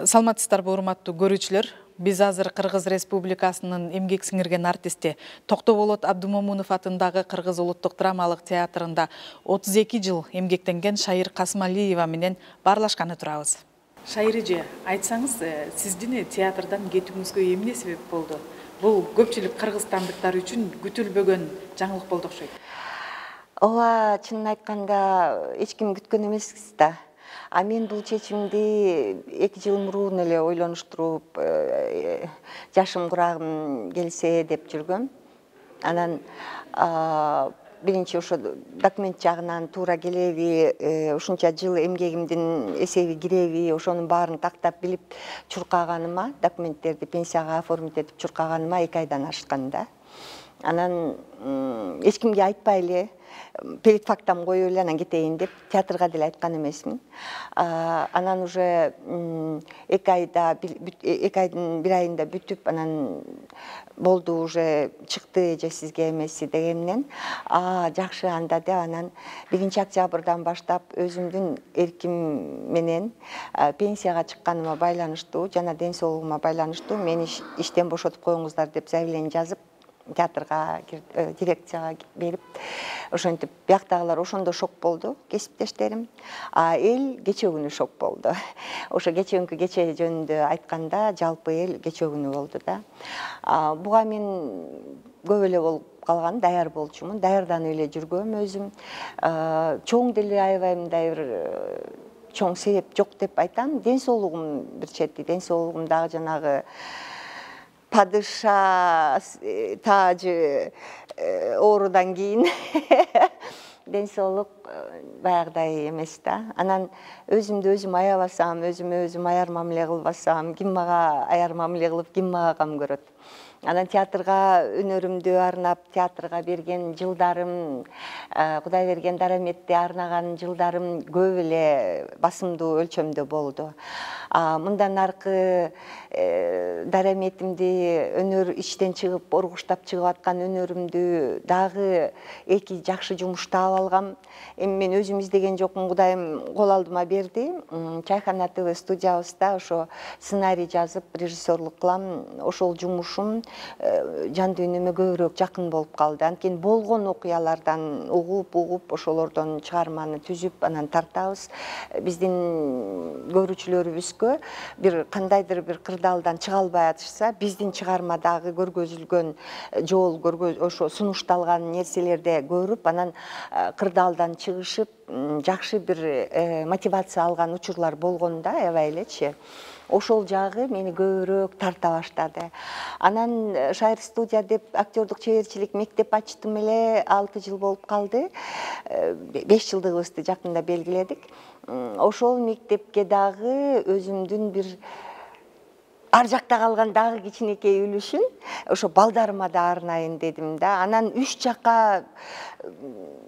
Саламатсыздарбы, урматтуу көрүүчүлөр. Биз азыр Кыргыз Республикасынын эмгек сиңирген артисти Токтоболот Абдумомунов атындагы Кыргыз улуттук драмалык театрында 32 жыл эмгектенген Шайыр Касымалиева менен баарлашканы турабыз. Шайыр эже, айтсаңыз, сиздин театрдан кетүүңүзгө эмне себеп болду? Бул көпчүлүк кыргызстандыктар үчүн күтүлбөгөн жаңылык болду окшойт. Ооба, чынын айтканда эч ким күткөн эмеспиз да. Мен бул чечимди 2 жыл мурун эле ойлонуштуруп, жашым курагым келсе деп жүргөм. Анан биринчи ошо документ жагынан туура келеби, ушунча жыл эмгегимдин эсеби киреби, ошонун баарын тактап билип чуркаганыма, документтерди пенсияга оформить этип чуркаганыма 2 айдан ашкан да. Анан эч кимге айтпай эле, перед фактам коюп эле анан кетейин деп театрга деле айткан эмесмин. Анан уже 2 айдын 1 айында бүтүп, анан болду, уже чыкты эже сизге эмеси дегенден, жакшы анда деп анан 1 октябрдан баштап өзүмдүн эрким менен пенсияга чыкканыма байланыштуу жана ден соолугума байланыштуу мени иштен бошотуп коюңуздар деп заявление жазып, театрга дирекцияга берип, ошентип бияктагылар ошондо шок болду, кесиптештерим. Эл кечээ күнү шок болду. Ошо кечээ жөнүндө айтканда, жалпы эл кечээ күнү болду да. Буга мен көп эле болуп калган, даяр болчумун, даярданып эле жүргөм өзүм. Чоң деле аябай мындай бир чоң себеп жок деп айтам. Ден соолугум бир чети, ден соолугум дагы жанагы падыша тажы оорудан кийин ден соолук баягыдай эмес да. Анан өзүмдү өзүм аябасам, өзүмө өзүм аяр мамиле кылбасам, ким мага аяр мамиле кылып, ким мага кам көрөт? Анан театрга өнөрүмдү арнап, театрга берген жылдарым, Кудай берген дараметти арнаган жылдарым көп эле басымдуу өлчөмдө болду. Мындан аркы дараметимди, өнөр иштен чыгып, оргуштап чыгып аткан өнөрүмдү дагы 2 жакшы жумуш таап алгам. Эми мен өзүм издеген жокмун, Кудайым кол алдыма берди. Чайхана ТВ студиябызда ошо сценарий жазып, режиссерлук кылам. Ошол жумушум жан дүйнөмө көбүрөөк жакын болуп калды. Анткени болгон окуялардан угуп, ошолордон чыгарманы түзүп, анан тартабыз. Биздин көрүүчүлөрүбүзгө бир кандайдыр бир кырдаалдан чыга албай атышса, биздин чыгармадагы көргөзүлгөн жол, ошо сунушталган нерселерди көрүп, анан кырдаалдан чыгышып, жакшы бир мотивация алган учурлар болгон да, аябай элечи. Ошол жагы мени көбүрөөк тарта баштады. Анан Шайыр студия деп актёрдук чеберчилик мектеп ачтым эле, 6 жыл болуп калды. 5 жылдыгыбызды жакында белгиледик. Ошол мектепке дагы өзүмдүн бир ар жакта калган дагы кичинекей үлүшүн ошо балдарыма да арнайын дедим да. Анан 3 жакка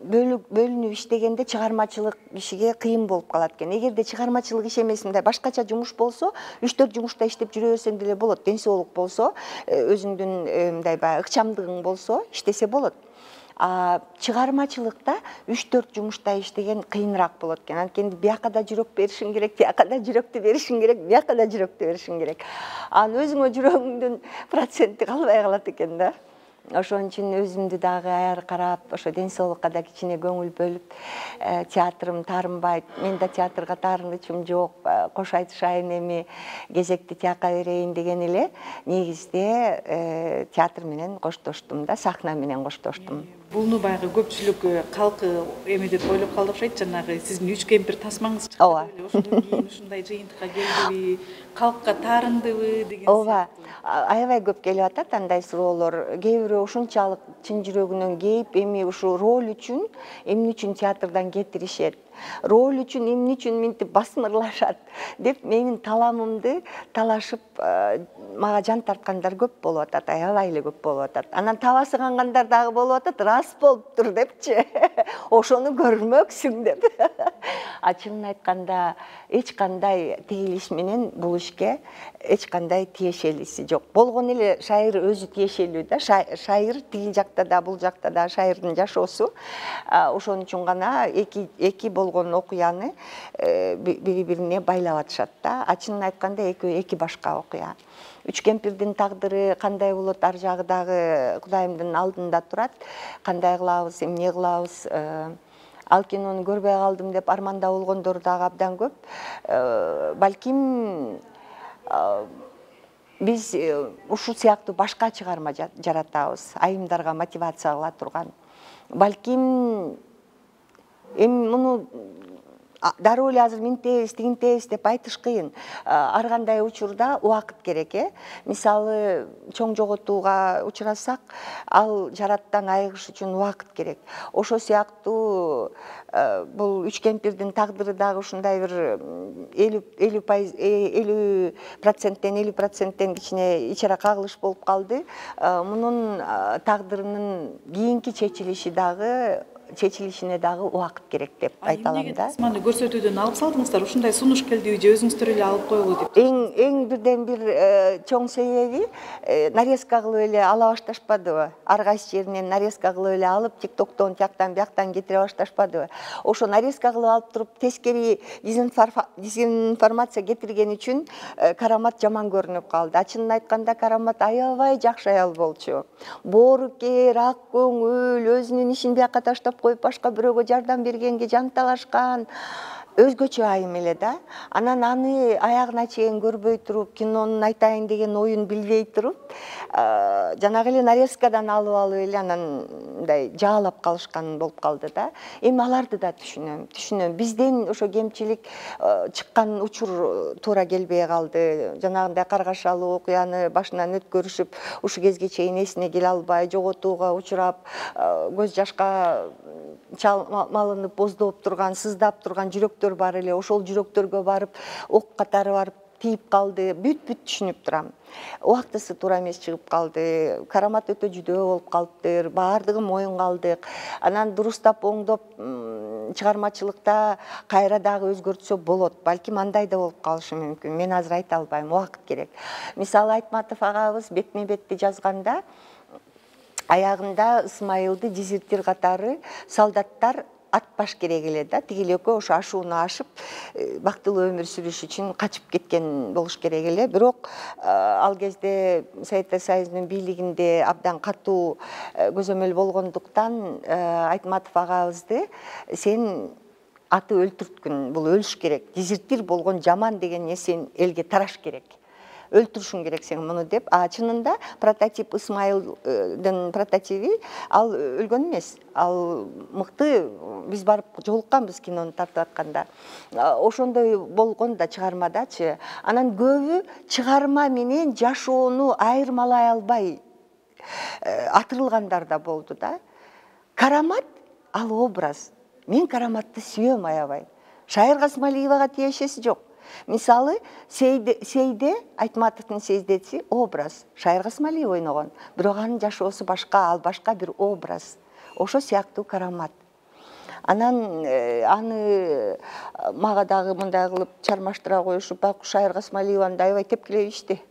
бөлүнүп иштегенде чыгармачылык кишиге кыйын болуп калат экен. Эгерде чыгармачылык иш эмес, мындай башкача жумуш болсо, 3-4 жумушта иштеп жүрө берсең деле болот. Ден соолук болсо, өзүңдүн мындай баягы ыкчамдыгың болсо, иштесе болот. Чыгармачылыкта 3-4 жумушта иштеген кыйыныраак болот экен. Анткени бияка да жүрөк беришиң керек, тияка да жүрөктү беришиң керек, бияка да жүрөктү беришиң керек. Анан өзүңө жүрөгүңдүн проценти калбай калат экен да. Ошон үчүн өзүмдү дагы аяр карап, ошо ден соолукка да кичине көңүл бөлүп, театрым таарынбайт. Мен да театрга таарынычым жок. Кош айтышайын, эми кезекти тияка берейин деген эле негизде театр менен коштоштум да, сахна менен коштоштум. Буну баягы көпчүлүк калкы эме деп ойлоп калды окшойт, жанагы сиздин 3 кемпир тасмаңыз чыкты эле, ошондон кийин ушундай жыйынтыкка келдиби, калкка таарындыбы деген. Ооба, аябай көп келип атат андай суроолор. Кээ бирөө ушунчалык чын жүрөгүнөн кейип, эми ушу роль үчүн эмне үчүн театрдан кетиришет, роль үчүн эмне үчүн минтип басмырлашат деп менин таламымды талашып мага жан тарткандар көп болуп атат, аябай эле көп болуп атат. Анан табасы кангандар дагы болуп атат, рас болуптур депчи. Ошону көрмөксүң деп. чынын айтканда эч кандай тигилиш менен бул ишке эч кандай тиешелиси жок. Болгон эле шайыр өзү тиешелүү да. Шайыр тигил жакта да, бул жакта да шайырдын жашоосу. Ошон үчүн гана эки болгон окуяны бири-бирине байлап атышат да. Чынын айтканда экөө эки башка окуя. Үч кемпирдин тагдыры кандай болот, ар жагы дагы Кудайымдын алдында турат. Кандай кылабыз, эмне кылабыз? Ал кинону көрбөй калдым деп арманда болгондор дагы абдан көп. Балким биз ушул сыяктуу башка чыгарма жаратабыз, айымдарга мотивация кыла турган. Балким эми муну дароо эле азыр минтебиз, тигинтебиз деп айтыш кыйын. Ар кандай учурда убакыт керек, Мисалы, чоң жоготууга учурасак, ал жараттан айыгыш үчүн убакыт керек. Ошо сыяктуу бул үч кемпирдин тагдыры дагы ушундай бир 50%тен 50%тен кичине ичара кагылыш болуп калды. Мунун тагдырынын кийинки чечилишине дагы убакыт керек деп айта алам да. Эмнеге көрсөтүүдөн алып салдыңыздар? Ушундай сунуш келдиби же өзүңүздөр эле алып коелу деп? Эң бирден бир чоң себеби нарезка кылып эле ала башташпадыбы? Ар кайсы жеринен нарезка кылып эле алып, ТикТоктон тияктан бияктан кетире башташпадыбы? Ошо нарезка кылып алып туруп тескери дезинформация кетирген үчүн Карамат жаман көрүнүп калды. Чынын айтканда Карамат аябай жакшы аял болчу. Боорукер, ак көңүл, өзүнүн ишин бияка таштап коюп башка бирөөгө жардам бергенге жанталашкан. Өзгөчө айым эле да. Анан аны аягына чейин көрбөй туруп, кинонун айтайын деген оюн билбей туруп, жанагы эле нарезкадан алып эле анан мындай жаалап калышкан болуп калды да. Эми аларды да түшүнөм. Бизден ошо кемчилик чыккан учур туура келбей калды. Жанагындай каргашалуу окуяны башынан өткөрүшүп, ушу кезге чейин эсине келе албай, жоготууга учурап, көз жашка чалмалынып, боздоп турган, сыздап турган жүрөктөр бар эле. Ошол жүрөктөргө барып, ок катары барып тийип калды. Бүт түшүнүп турам. Убактысы туура эмес чыгып калды. Карамат өтө жүдөө болуп калыптыр. Баардыгы моюнга алдык. Анан дурустап, оңдоп, чыгармачылыкта кайра дагы өзгөртсө болот. Балким андай да болуп калышы мүмкүн. Мен азыр айта албайм, убакыт керек. Мисалы, Айтматов агабыз бетме бетти жазганда аягында Исмайылды дезертир катары солдаттар атпаш керек эле да. Тиги экөө ошо ашууну ашып, бактылуу өмүр сүрүш үчүн качып кеткен болуш керек эле. Бирок ал кезде Советтер Союзунун бийлигинде абдан катуу көзөмөл болгондуктан Айтматов агабызды сен аты өлтүрткүн, бул өлүш керек. Дезертир болгон жаман деген нерсени элге тараш керек. Өлтүрүшүң керек сен муну деп. Чынында прототип Исмайылдын прототиби ал өлгөн эмес. Ал мыкты, биз барып жолукканбыз кинону тартып атканда. Ошондой болгон да чыгармадачы. Анан көбү чыгарма менен жашоону айырмалай албай атырылгандар да болду да. Карамат ал образ. Мен Караматты сүйөм аябай. Шайыр Касмалиевага тиешеси жок. Мисалы, Сейде, Айтматовдун Сейдеси образ. Шайыр Касмалиев ойногон. Бирок анын жашоосу башка, ал башка бир образ. Ошо сыяктуу Карамат. Анан аны мага дагы мындай кылып чармаштыра коюшуп, байкуш Шайыр Касмалиеваны аябай тепкилебишти.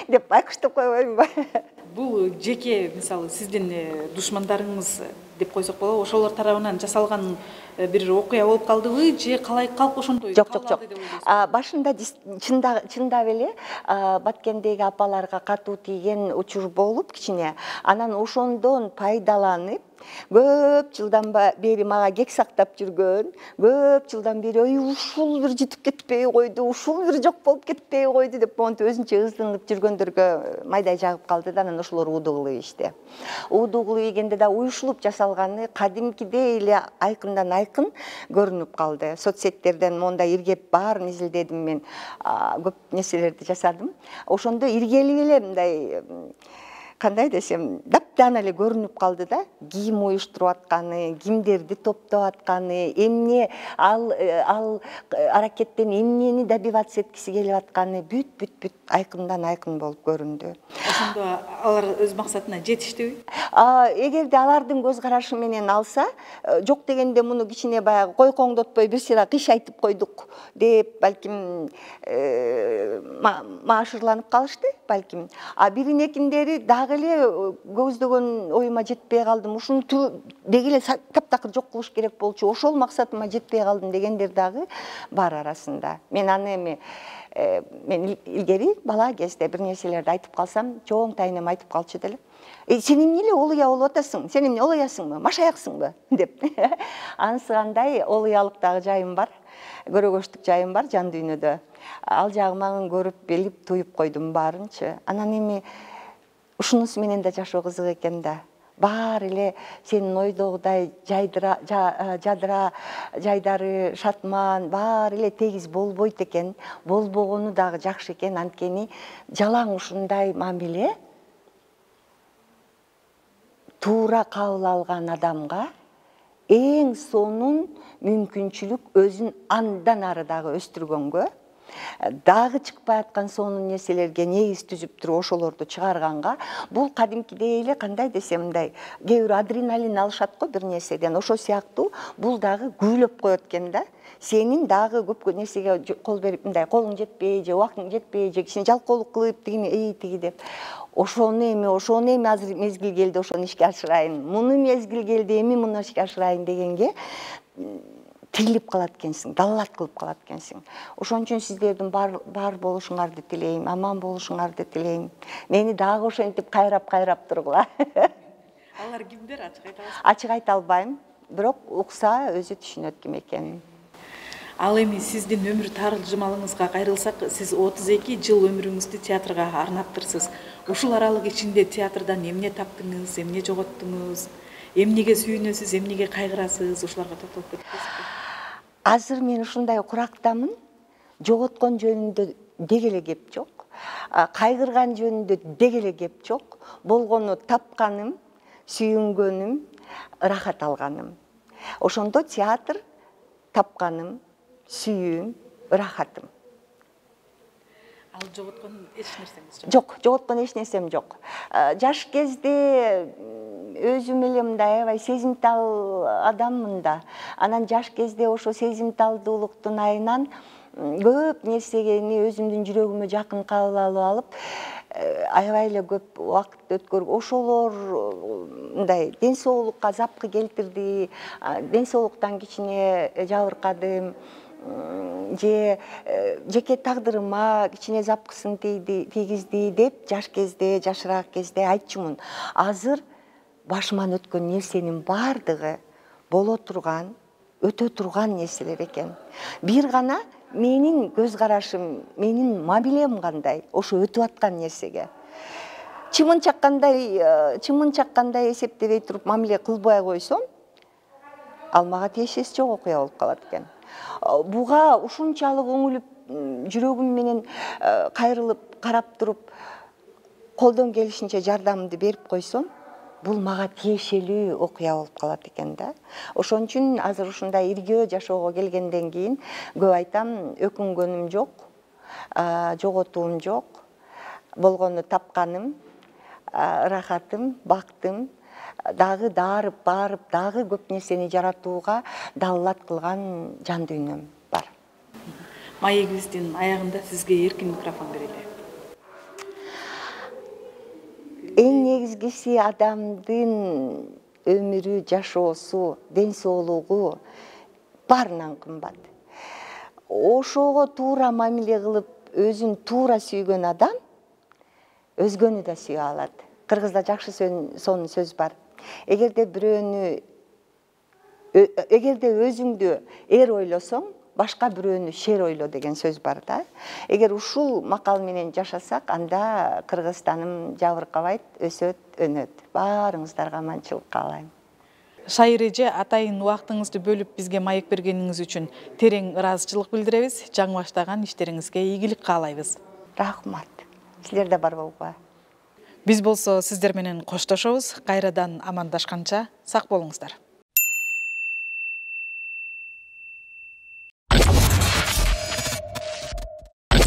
Деп байкуштап койбоймунбу? Бул жеке, мисалы, сиздин душмандарыңыз деп койсок болобу, ошолор тарабынан жасалган бир окуя болуп калдыбы же калай калп ошондой калды деп ойлойсузбу? Башында чындап эле Баткендеги апаларга катуу тийген учур болуп кичине. Анан ошондон пайдаланып көп жылдан бери мага кек сактап жүргөн, көп жылдан бери ушул бир жутуп кетпей койду, ушул бир жок болуп кетпей койду деп монтип өзүнчө ызданып жүргөндөргө майдай жагып калды да, анан ошолор уудуу кылып ийишти. Уудуу кылып ийгенде да уюшулуп жасалганы кадимкидей эле айкындан айкын көрүнүп калды. Соцсеттерден мондай иргеп баарын изилдедим мен, көп нерселерди жасадым. Ошондо иргелип эле мындай кандай десем, даптан эле көрүнүп калды да, ким уюштуруп атканы, кимдерди топтоп атканы, эмне ал аракеттен эмнени добиваться эткиси келип атканы бүт айкындан айкын болуп көрүндү. ошондо алар өз максатына жетиштиби? Эгерде алардын көз карашы менен алса, жок дегенде муну кичине баягы кой коңдотпой бир сыйра кыш айтып койдук деп балким маашырланып калышты балким. Биринекиндери дагы эле көздөгөн оюма жетпей калдым. Ушуну деги эле таптакыр жок кылыш керек болчу. Ошол максатыма жетпей калдым дегендер дагы бар арасында. Мен аны мен илгери бала кезде бир нерселерди айтып калсам, чоң тайнем айтып калчу деле. Сен эмне эле олуя болуп атасың? Сен эмне олуясыңбы? Машаяксыңбы? деп. Ансыгандай олуялык дагы жайым бар. Көрөгөчтүк жайым бар жан дүйнөдө. Ал жагыман көрүп, билип, туюп койдум баарынчы. Анан эми ушунусу менен да жашоо кызык экен да. Баары эле сенин ойдогудай жадыра, жайдары, шатман, баары эле тегиз болбойт экен. Болбогону дагы жакшы экен, анткени жалаң ушундай мамиле туура кабыл алган адамга эң сонун мүмкүнчүлүк өзүн андан ары дагы өстүргөнгө, дагы чыкпай аткан сонун нерселерге негиз түзүп туруп ошолорду чыгарганга, бул кадимкидей эле кандай десем мындай, кээ бирөө адреналин алышат го бир нерседен, ошол сыяктуу бул дагы күбөлөп коет экен да. Сенин дагы көп нерсеге кол берип, мындай колуң жетпей же убактың жетпей же кичине жалкоолук кылып тиги деп. Ошону эми азыр мезгил келди, ошону ишке ашырайын. Муну мезгил келди, эми муну ишке ашырайын дегенге тирилип калат экенсиң, далалат кылып калат экенсиң. Ошон үчүн сиздердин бар болушуңарды тилейм, аман болушуңарды тилейм. Мени дагы ошентип кайрап тургула. Алар кимдер, ачык айта аласызбы? Ачык айта албайм, бирок укса өзү түшүнөт ким экенин. Ал эми сиздин өмүр таржымалыңызга кайрылсак, сиз 32 жыл өмүрүңүздү театрга арнаптырсыз. Ушул аралык ичинде театрдан эмне таптыңыз, эмне жоготтуңуз, эмнеге сүйүнөсүз, эмнеге кайгырасыз, ушуларга токтолуп кетесизби? Азыр мен ушундай курактамын. Жоготкон жөнүндө деги эле кеп жок. Кайгырган жөнүндө деги эле кеп жок. Болгону тапканым, сүйүнгөнүм, рахат алганым. Ошондо театр тапканым, сүйүүм, рахатым. Ал жоготкон эч нерсеңиз жок? Жок, жоготкон эч нерсем жок. Жаш кезде өзүм эле мындай аябай сезимтал адаммын да. Анан жаш кезде ошо сезимталдуулуктун айынан көп нерсени өзүмдүн жүрөгүмө жакын кабыл алып, аябай эле көп убакыт өткөрүп, ошолор мындай ден соолукка запкы келтирди, ден соолуктан кичине жабыркадым. Же жеке тагдырыма кичине запкысын тийгизди деп жаш кезде, жашыраак кезде айтчумун. Азыр башыман өткөн нерсенин баардыгы боло турган, өтө турган нерселер экен. Бир гана менин көз карашым, менин мамилем кандай, ошо өтүп аткан нерсеге. Чымын чаккандай эсептебей туруп мамиле кылбай койсом, ал мага тиешеси жок окуя болуп калат экен. Буга ушунчалык оңулуп, жүрөгүм менен кайрылып, карап туруп, колдон келишинче жардамымды берип койсом, бул мага тиешелүү окуя болуп калат экен да. Ошон үчүн азыр ушундай иргөө жашоого келгенден кийин көп айтам, өкүнгөнүм жок, жоготуум жок. Болгону тапканым, рахатым, бактым, дагы дарып, барып, дагы көп нерсени жаратууга далалат кылган жан дүйнөм бар. Маегибиздин аягында сизге эркин микрофон берели. Эң негизгиси адамдын өмүрү, жашоосу, ден соолугу баарынан кымбат. Ошого туура мамиле кылып, өзүн туура сүйгөн адам өзгөнү да сүйө алат. Кыргызда жакшы сонун сөз бар. Эгерде өзүңдү эр ойлосоң, башка бирөөнү шер ойло деген сөз бар да. Эгер ушул макал менен жашасак, анда Кыргызстаным жабыркабайт, өсөт, өнөт. Баарыңыздарга аманчылык каалайм. Шайыр эже, атайын убактыңызды бөлүп бизге маек бергениңиз үчүн терең ыраазычылык билдиребиз. Жаңы баштаган иштериңизге ийгилик каалайбыз. Рахмат. Силерде бар болуңар. Биз болсо сиздер менен коштошобуз. Кайрадан амандашканча сак болуңуздар.